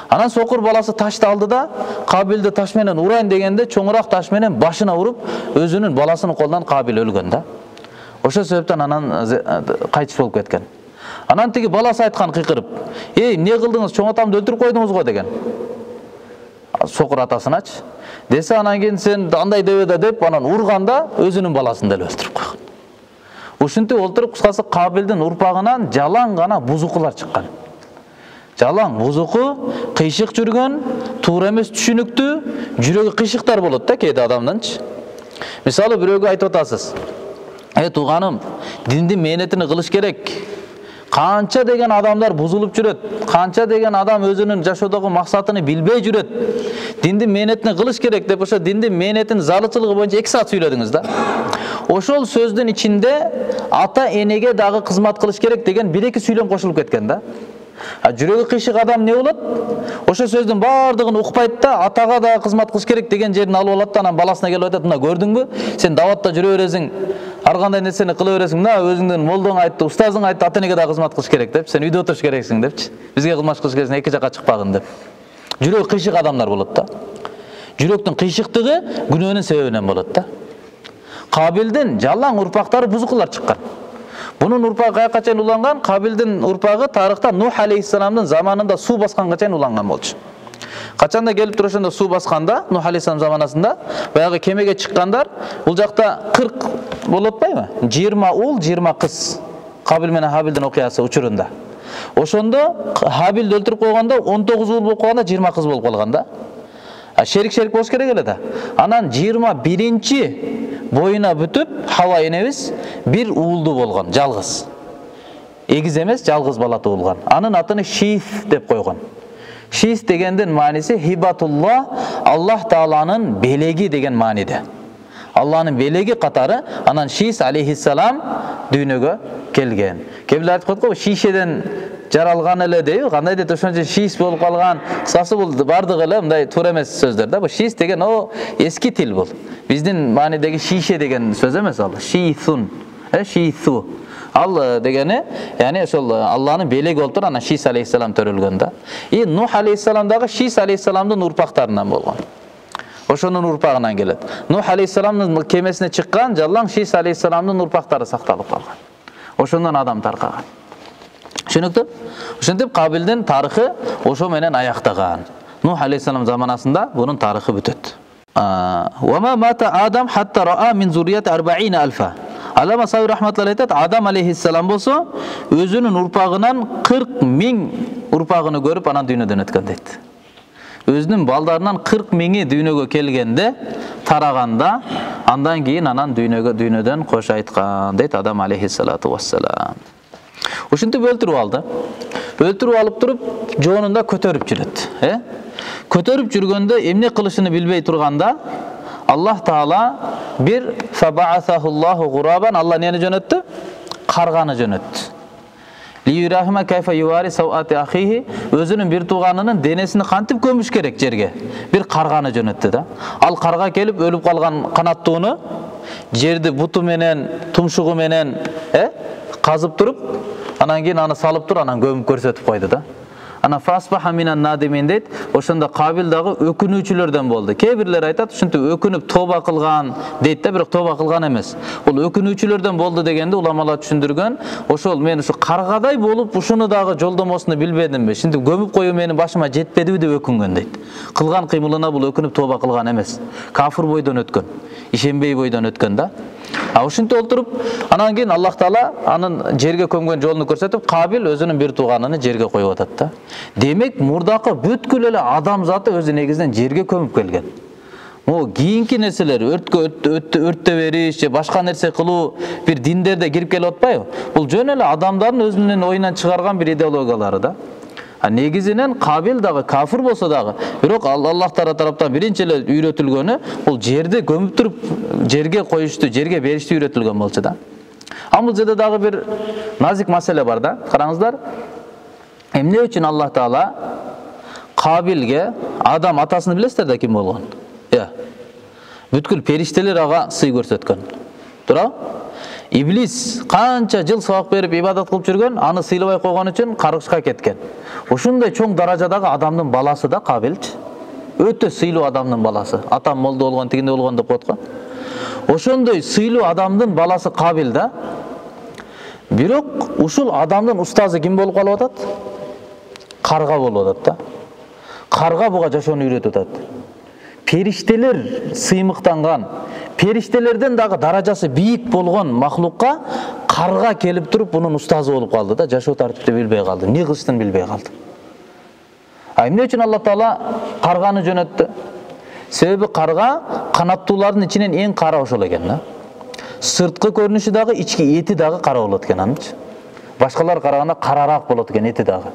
Анан сокур баласы ташты алды да, Кабилди таш менен урайын дегенде чоңураак таш менен башына уруп, өзүнүн баласынын колунан Кабил өлгөн да. Ошол себептен анан кайтыш болуп кеткен. Анан тиги баласы айткан кыйкырып: "Эй, эмне кылдыңыз? Чоң атамды өлтүрүп койдуңуз го" деген. Сокур атасыначы. Десе анан кийин сен андай дебе деп анан урганда өзүнүн баласын деле өлтүрүп койгон. Ушинтип олтуруп, кыскасы Кабилдин урпагынан жалаң гана бузукулар чыккан. Жалаң бузуку, кыйшык жүргөн, туура эмес түшүнүктүү, жүрөгү кыйшыктар болот да кээде адамдынчы. Мисалы бирөөгө айтып атасыз: "Э тууганым, диндин мээнетини кылыш керек. Канча деген адамдар бузулуп жүрөт, канча деген адам өзүнүн жашоодогу максатыны билбей жүрөт. Диндин мээнетини кылыш керек" деп ошо диндин мээнетинин зарылчылыгы боюнча эки саат сүйлөдүңүз да. Ошол сөздүн ичинде ата энеге дагы кызмат кылыш керек деген бир-эки сүйлөм кошулуп кеткен да. А жүрөгү кыйшык адам не болот? Ошо сөздүн баардыгын укпайт да, атага да кызмат кылыш керек деген жерин алып алат да, анан баласына келип айтат: "Мына көрдүңбү? Сен даватта жүрө бересиң, ар кандай нерсени кыла бересиң. Мына өзүңдүн молдоң айтты, устазың айтты, ата энеге да кызмат кылыш керек деп. Сен үйдө отуруш керексиң" депчи. "Бизге кызмат кылыш керексиң, эки жакка чыкпагын" деп. Жүрөгү кыйшык адамдар болот да. Жүрөктүн кыйшыктыгы күнөөнүн себебинен болот да. Кабилдин жалаң урпактары бузукулар чыккан. Бунун урпагы каяка чейин уланган? Кабилдин урпагы тарыхта Нух алейхиссаламдын заманында суу басканга чейин уланган болчу. Качанда келип туруп ошондо суу басканда, Нух алейхиссалам заманасында баягы кемеге чыккандар, бул жакта кырк болуп атпайбы? жыйырма уул, жыйырма кыз. Кабил менен Хабилдин окуясы учурунда. Ошондо Хабилди өлтүрүп койгондо он тогуз уул болуп калганда жыйырма кыз болуп калган да. А шерик шерик болуш керек эле да. Анан жыйырма биринчи боюна бүтүп Хава энебиз бир уулду болгон, жалгыз. Эгиз эмес, жалгыз бала туулган. Анын атын Шис деп койгон. Шис дегендин мааниси хибатулла, Аллах Тааланын белеги деген мааниде. Алланын белеги катары анан Шис алейхиссалам дүйнөгө келген. Кээ айтып коет го, шишеден жаралган эле дейби, кандай дейт, ошончо шис болуп калган. Кыскасы бул бардыгы эле мындай туура эмес сөздөр да. Бул шис деген о эски тил бул. Биздин маанидеги шише деген сөз эмес ал. Шисун, э шису. Ал дегени, яни ошол Алланын белеги болуп туруп, анан Шис алейхиссалам төрөлгөн да. И Нух алейхиссалам дагы Шис алейхиссаламдын урпактарынан болгон. Ошонун урпагынан келет. Нух алейхиссаламдын кемесине чыккан жалаң Шис алейхиссаламдын урпактары сакталып калган. Ошондон адам таркаган. Түшүнүктүү? Ошентип Кабилдин тарыхы ошо менен аяктаган. Нух алейхиссалам заманасында бунун тарыхы бүтөт. Ва ма мата Адам хатта раа мин зуррияти арбаина алфа. Алама Сави рахматуллахи айтат, Адам алейхиссалам болсо өзүнүн урпагынан кырк миң урпагын көрүп анан дүйнөдөн өткөн дейт. Өзүнүн балдарынан кырк миңи дүйнөгө келгенде, тараганда, андан кийин анан дүйнөгө дүйнөдөн кош айткан дейт Адам алейхиссалату вассалам. Ушинтип өлтүрүп алды. Өлтүрүп алып туруп, жоонунда көтөрүп жүрөт, э? Көтөрүп жүргөндө эмне кылышын билбей турганда, Аллах Таала бир фабаасахуллаху гурабан, Алла нени жөнөттү? Карганы жөнөттү. Лиюрахима кайфа ювари сауати ахихи, өзүнүн бир тууганынын денесин кантип көмүш керек жерге? Бир карганы жөнөттү да. Ал карга келип өлүп калган канаттууну жерди буту менен, тумшугу менен, э? казып туруп, анан кийин аны салып туруп, анан көмүп көрсөтүп койду да. Ана фасбаха минан надимин дейт. Ошондо Кабил дагы өкүнүүчүлөрдөн болду. Кээ бирлер айтат, ушинтип өкүнүп тоба кылган дейт да, бирок тоба кылган эмес. Бул өкүнүүчүлөрдөн болду дегенде уламалар түшүндүргөн, ошол мен ушу каргадай болуп ушуну дагы жолдомосуну билбедимби? Ушинтип көмүп коюу менин башыма жетпедиби деп өкүнгөн дейт. Кылган кыймылына бул өкүнүп тоба кылган эмес. Кафир бойдон өткөн, ишенбей бойдон өткөн да. А ушинтип олтуруп, анан кийин Аллах Таала анын жерге көмгөн жолун көрсөтүп, Кабил өзүнүн бир тууганын жерге коюп атат да. Демек, мурдакы бүткүл эле адам заты өзү негизинен жерге көмүп келген. Могу кийинки нерселер өрткө өрттө бериш же башка нерсе кылуу бир диндерде кирип келип атпайбы? Бул жөн эле адамдардын өзүнүн оюнан чыгарган бир идеологиялары да. А негизинен Кабил дагы кафир болсо дагы, бирок Аллах тараптан биринчи эле үйрөтүлгөнү бул жерди көмүп туруп жерге коюшту, жерге беришти үйрөтүлгөн болчу да. А бул жерде дагы бир назик маселе бар да. Караңыздар. Эмне үчүн Аллах Таала Кабилге, Адам атасын билесиздер да ким болгон? Э. Бүткүл периштелер ага сый көрсөткөн. Туурабы? Иблис канча жыл сабак берип ибадат кылып жүргөн, аны сыйлабай койгон үчүн каргышка кеткен. Ушундай чоң даражадагы адамдын баласы да Кабилчи. Өтө сыйлуу адамдын баласы. Атам молдо болгон, тигинде болгон деп коет го. Ошондой сыйлуу адамдын баласы Кабил да. Бирок ушул адамдын устазы ким болуп калып атат? Карга болуп атат да. Карга буга жашоону үйрөтүп атат. Периштелер сыймыктанган, периштелерден дагы даражасы бийик болгон махлукка карга келип туруп бунун устазы болуп калды да, жашоо тартипти билбей калды, эмне кылыштын билбей калды. А эмне үчүн Аллах Таала карганы жөнөттү? Себеби карга канаттуулардын ичинен эң кара ошол экен да. Сырткы көрүнүшү дагы, ички эти дагы кара болот экен анычы. Башкалар караганда карараак болот экен эти дагы.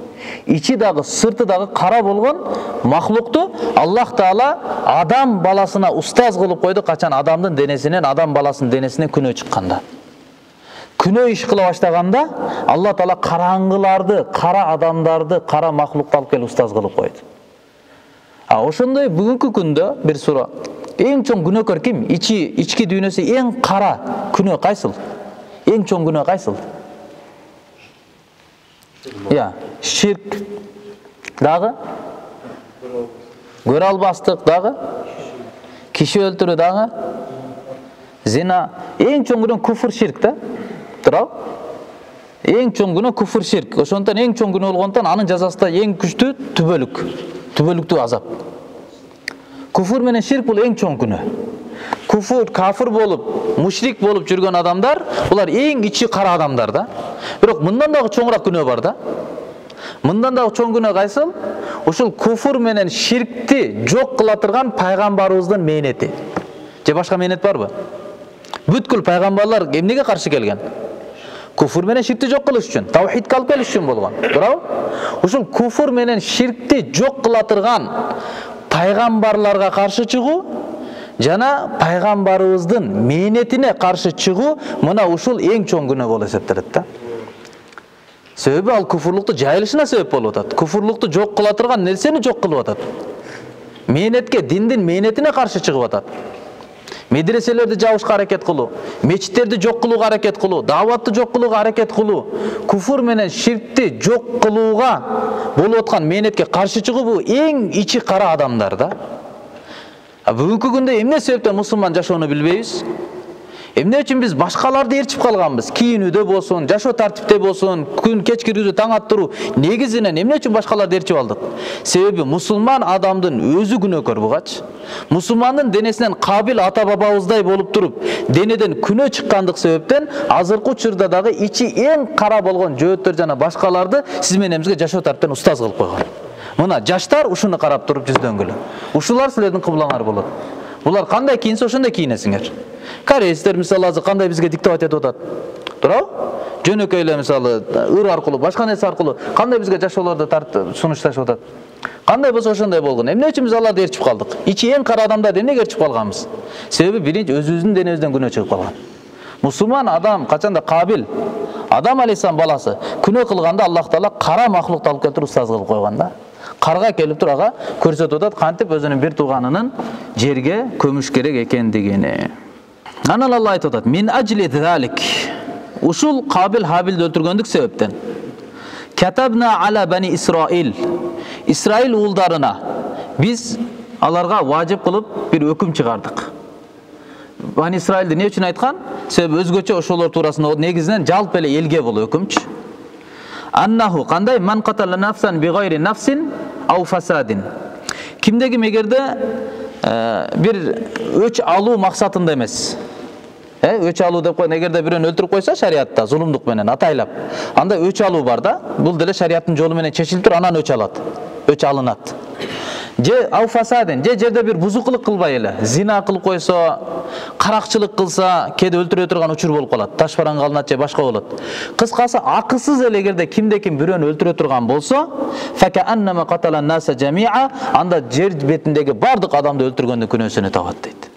Ичи дагы, сырты дагы кара болгон махлукту Аллах Таала адам баласына устаз кылып койду, качан адамдын денесинен, адам баласынын денесинен күнөө чыкканда. Күнөө иш кыла баштаганда Аллах Таала караңгыларды, кара адамдарды, кара махлукту алып келип устаз кылып койду. А ошондой бүгүнкү күндө бир суроо. Эң чоң күнөөкөр ким? Ичи, ички дүйнөсү эң кара күнөө кайсыл? Эң чоң күнөө кайсыл? Я, ширк дагы, көрө албастык дагы, киши өлтүрүү дагы, зина. Эң чоң күнөө куфр, ширк да. Туурабы? Эң чоң күнөө куфр, ширк. Ошондон эң чоң күнөө болгондон анын жазасы да эң күчтүү түбөлүк, түбөлүктүү азап. Куфр менен ширк бул эң чоң күнөө. Куфр, кафир болуп, мушрик болуп жүргөн адамдар, булар эң ичи кара адамдар да. Бирок мындан дагы чоңураак күнөө бар да. Мындан дагы чоң күнөө кайсыл? Ушул куфр менен ширкти жок кыла турган пайгамбарыбыздын мээнети. Же башка мээнет барбы? Бүткүл пайгамбарлар эмнеге каршы келген? Куфр менен ширкти жок кылыш үчүн, таухидке алып келиш үчүн болгон. Туурабы? Ушул куфр менен ширкти жок кыла турган пайгамбарларга каршы чыгуу жана пайгамбарыбыздын мээнетине каршы чыгуу мына ушул эң чоң күнөө болуп эсептелет да. Себеби ал куфурлукту жайылышына себеп болуп атат. Куфурлукту жок кыла турган нерсени жок кылып атат. Мээнетке, диндин мээнетине каршы чыгып атат. Медреселерди жабышка аракет кылуу, мечиттерди жок кылууга аракет кылуу, дааватты жок кылууга аракет кылуу, куфур менен ширкти жок кылууга болуп аткан мээнетке каршы чыгуу бул эң ичи кара адамдар да. А бүгүнкү күндө эмне себептен мусулман жашоону билбейбиз? Эмне үчүн биз башкаларды ээрчип калганбыз? Кийинүүдө болсун, жашоо тартипте болсун, күн кеч кирүүдө таң аттыруу. Негизинен эмне үчүн башкаларды ээрчип алдык? Себеби мусулман адамдын өзү күнөөкөр бугач. Мусулмандын денесинен Кабил ата бабабыздай болуп туруп, денеден күнөө чыккандык себептен азыркы учурда дагы ичи эң кара болгон жөөттөр жана башкаларды сиз менен бизге жашоо тартиптен устаз кылып койгон. Мына жаштар ушуну карап туруп жүздөнгүлө. Ушулар силердин кыблаңар болот. Булар кандай кийинсе ошондой кийинесиңер. Корейстер мисалы азыр кандай бизге диктовать этип атат. Туурабы? Жөнөкөй эле мисалы ыр аркылуу, башка нерсе аркылуу кандай бизге жашоолорду тартып сунушташып атат. Кандай болсо ошондой болгон. Эмне үчүн биз аларды ээрчип калдык? Ичи эң кара адамдарды эмнеге ээрчип калганбыз? Себеби биринчи өзүбүздүн денебизден күнөө чыгып калган. Мусулман адам качанда Кабил, Адам алейхиссалам баласы күнөө кылганда Аллах Таала кара махлукту алып келип устаз кылып койгон да. Карга келип туруп ага көрсөтүп атат кантип өзүнүн бир тууганынын жерге көмүш керек экендигини. Анан Алла айтып атат: "Мин ажли залик." Ушул Кабил Хабилди өлтүргөндүк себептен. Катабна ала бани Исраил. Исраил уулдарына биз аларга важип кылып бир өкүм чыгардык. Бани Исраилди эмне үчүн айткан? Себеби өзгөчө ошолор туурасында негизинен жалпы эле элге бул өкүмчү. Аннаху кандай ман катала нафсан би гайри нафсин ау фасадин. Кимдеги эгерде бир өч алуу максатында эмес. Э, өч алуу деп койгон, эгерде бирөөнү өлтүрүп койсо шариатта зулумдук менен атайлап, анда өч алуу бар да. Бул деле шариаттын жолу менен чечилип тур, анан өч алат. Өч алынат. же ау фасадин, же жерде бир бузукулук кылбай эле, зина кылып койсо, каракчылык кылса, кээде өлтүрө турган учур болуп калат, таш бараң калынат же башка болот. Кыскасы акысыз эле эгерде кимде-ким бирөөнү өлтүрө турган болсо, факааннама каталан наса жамиа, анда жер бетиндеги бардык адамды өлтүргөндүн күнөөсүнө табат дейт.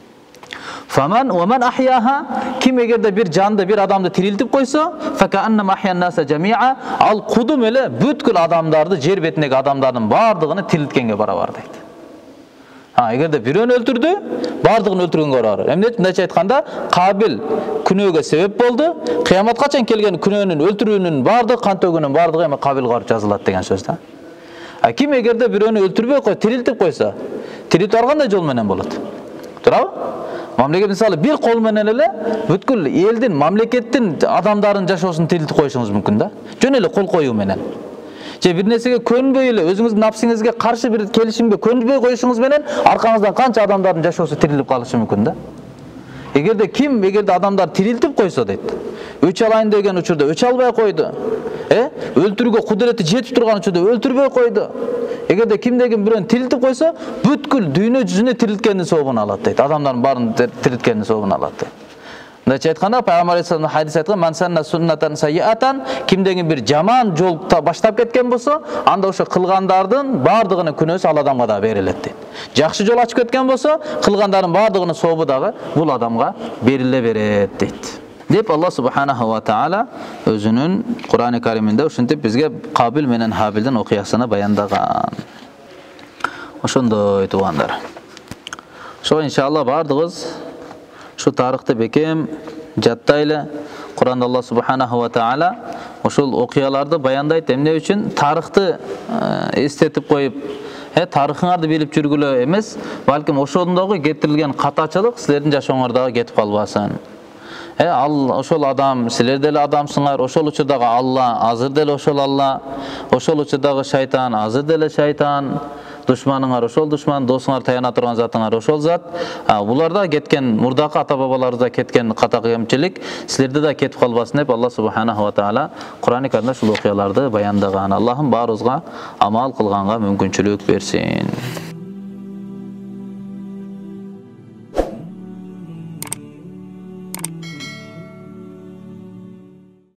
Фаман ва ман ахяха, ким эгерде бир жанды, бир адамды тирилтип койсо, факааннама ахян наса жамиа, ал кудум эле бүткүл адамдарды, жер бетиндеги адамдардын бардыгын тирилткенге барабар дейт. Ha, эгерде бирөөнү өлтүрдү, бардыгын өлтүргөнгө барабар. Эмне мындайча айтканда, Кабил күнөөгө себеп болду. Кыяматка чейин келген күнөөнүн, өлтүрүүнүн бардыгы, кан төгүүнүн бардыгы эми Кабилге барып жазылат деген сөз да. А ким эгерде бирөөнү өлтүрбөй кой, тирилтип койсо, тирилтүү кандай жол менен болот? Туурабы? Мамлекет мисалы бир кол менен эле бүткүл элдин, мамлекеттин адамдарын жашоосун тирилтип коюшуңуз мүмкүн да. Жөн эле кол коюу менен. Же бир нерсеге көнбөй эле, өзүңүздүн напсиңизге каршы бир келишимге көнбөй коюшуңуз менен аркаңыздан канча адамдардын жашоосу тирилип калышы мүмкүн да. Эгерде ким, эгерде адамдар тирилтип койсо дейт, өч алайын деген учурда өч албай койду. Э? Өлтүрүүгө кудурети жетип турган учурда өлтүрбөй койду. Эгерде кимдегин бирөөнү тирилтип койсо, бүткүл дүйнө жүзүнө тирилткендин сообун алат дейт. Адамдардын баарын тирилткендин сообун алат дейт. Мындайча айтканда, Пайгамбар алейхиссалам хадис айткан: "Ман санна суннатан сайяатан", кимдегин бир жаман жол баштап кеткен болсо, анда ошо кылгандардын бардыгынын күнөөсү ал адамга да берилет дейт. Жакшы жол ачып кеткен болсо, кылгандардын бардыгынын сообу дагы бул адамга бериле берет дейт. Деп Аллах субханаху ва таала өзүнүн Кур'ан-ы Кариминде ушинтип бизге Кабил менен Хабилдин окуясына баяндаган. Ошондой туугандар. Ошо иншалла бардыгыбыз шу тарыхты бекем жаттайлы. Кур'анда Аллах субханаху ва таала ошол окуяларды баяндайт. Эмне үчүн? Тарыхты эстетип коюп, э тарыхыңарды билип жүргүлө эмес, балким ошондогу кетирилген катачылык силердин жашооңордогу кетип калбасын. Э ал ошол адам, силер деле адамсыңар, ошол учурдагы Алла, азыр деле ошол Алла, ошол учурдагы шайтан, азыр деле шайтан, душманыңар ошол душман, досуңар таяна турган затыңар ошол зат. Буларда кеткен, мурдакы ата-бабаларыбызда кеткен ката кемчилик силерде да кетип калбасын деп Аллах субханаху ва таала Кур'ан-ы Каримде ушул окуяларды баяндаган. Аллахым баарыбызга амал кылганга мүмкүнчүлүк берсин.